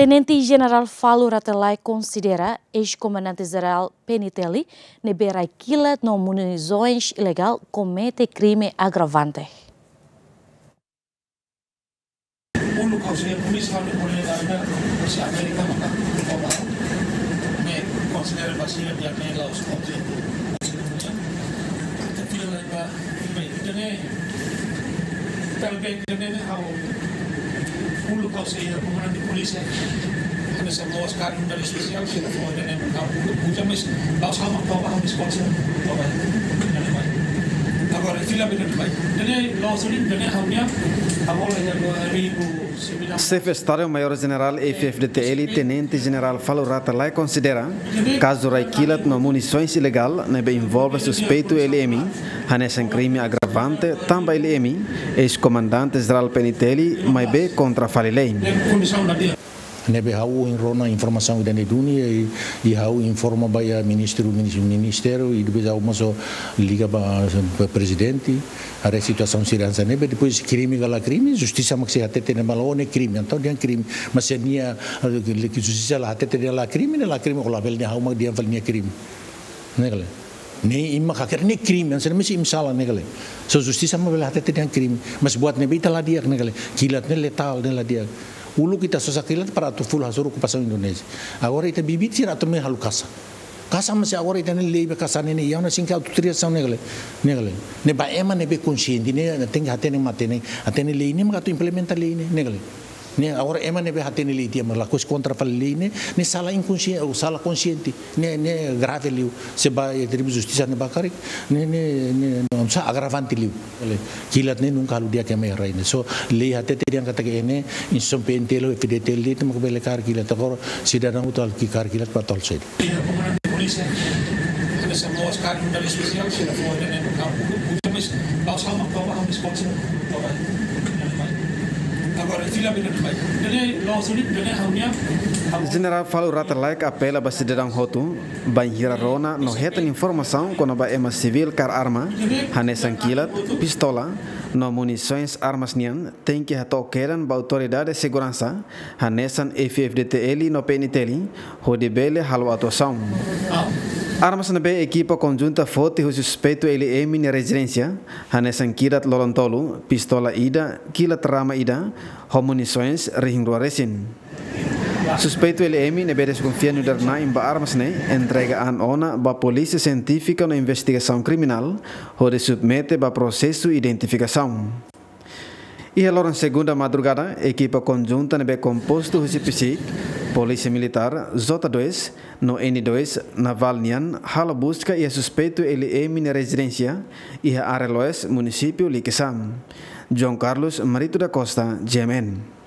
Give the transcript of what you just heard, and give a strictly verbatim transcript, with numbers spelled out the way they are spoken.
Tenente Jenerál Falur Rate Laek konsidera eis-komandante jerál P N I T L ne'ebé rai kilat no munisoens ilegál komete krime agravante. Uluk ha'u sei polísia, ha'u ne'e polísia da Amérika, polísia Amérika maka, me konsidera ba sira dia me laos konsidera. Te fila lai ba, be, ida-ne'e, talvez ida-ne'e ha'u, uluk ha'u sei komandante polísia, hanesan loos karik unidade espesiál, sira fó ida-ne'e ha'u uluk, uza mes, laos ha'u mak tau ba, ha'u mes konsidera, tau ba. Agora, fila be ida-ne'e bai. Ida-ne'e loos liu, ida-ne'e ha'u-nia, ha'u hola iha dua ribu sembilan belas. Xefe Estadu-Maiór Jenerál F F D T L, Tenente Jenerál Falur Rate Laek konsidera kazu rai kilat no munisoens ilegál ne'ebé envolve suspeitu L M, hanesan krime agravante tanba L M eis-komandante jerál P N I T L maibé kontra fali lei. Ne'ebé ha'u ohin rona informasaun ida-ne'e duni, i, i ha'u informa ba iha ministru, minis-, ministériu, i depois ha'u mós liga ba, ba prezidente, haree situasaun sira hanesan ne'e, depois krime ka la krime, justisa mak sei hatete ne'e mak la, ó ne'e krime, entaun dehan krime, mas se nia, eh, ke, ke justisa la hatete dehan la krime, ne'e la krime, ó labele dehan ha'u mak dehan fali nia krime. Ne'e ka lae. Ne'e imi mak hakerek ne'e krime, hanesan ne'e mesti imi sala ne'e ka lae. Só justisa mak bele hatete dehan krime. Mas buat ne'ebé ita la di'ak ne'e ka lae. Kilat ne'e letál ne'e la di'ak. Uluk ita sosa kilat para atu ful hasoru okupasaun Indonézia. Agora ita bibit sira atu mai halo kasa. Kasa mas agora ita-nia lei ba kasa ne'e, ne'e iha ona sink atu triasaun ne'e ka lae. Ne'e ka lae. Ne'e ba ema ne'ebé konsiente, ne'e tenke hatene matenek, hatene lei ne'e mak atu implementa lei ne'e, ne'e ka lae. Ne'e agora ema ne'ebé hatene lei tiha mak lakohi kontra fali lei ne'e, ne'e sala inkonsien-, ou sala konsiente, ne'e, ne'e grave liu. Se ba iha tribunál justisa ne'e ba karik, ne'e, ne'e, ne'e, ne'e, sá, agravante liu. Kilat ne'e nunka halo di'ak iha ema iha rai ne'e. Só lei hatete dehan katak iha ne'e, instituisaun P N T L ou F D T L de'it mak bele kaer kilat, agora sidadaun hotu halo ki kaer kilat para tol saida. Jenerál Falur Rate Laek apela ba sidadaun hotu, bainhira rona no hetan informasaun kona-ba ema sivíl kaer arma, hanesan kilat, pistola, no munisoens armas nian, tenke hato'o kedan ba autoridade seguransa, hanesan F F D T L no P N I T L, hodi bele halo atuasaun. Armas ne'ebé ekipa konjunta foti husi suspeitu L M nia rezidénsia, hanesan kilat lolon tolu, pistola ida, kilat rama ida, ho munisoens rihin rua resin. Suspeitu L M ne'ebé deskonfia nu'udar na'in ba armas ne'e, entrega an ona ba Polísia Sientífika no Investigasaun Kriminál, hodi submete ba prosesu identifikasaun. Iha loron segunda madrugada, ekipa konjunta ne'ebé kompostu husi PSIK, Polísia Militár, J dois, no N dois, Navál nian, halo buska iha suspeitu L M nia rezidénsia, iha área Loes, munisípiu Likisá. João Carlos Marito da Costa, G M N.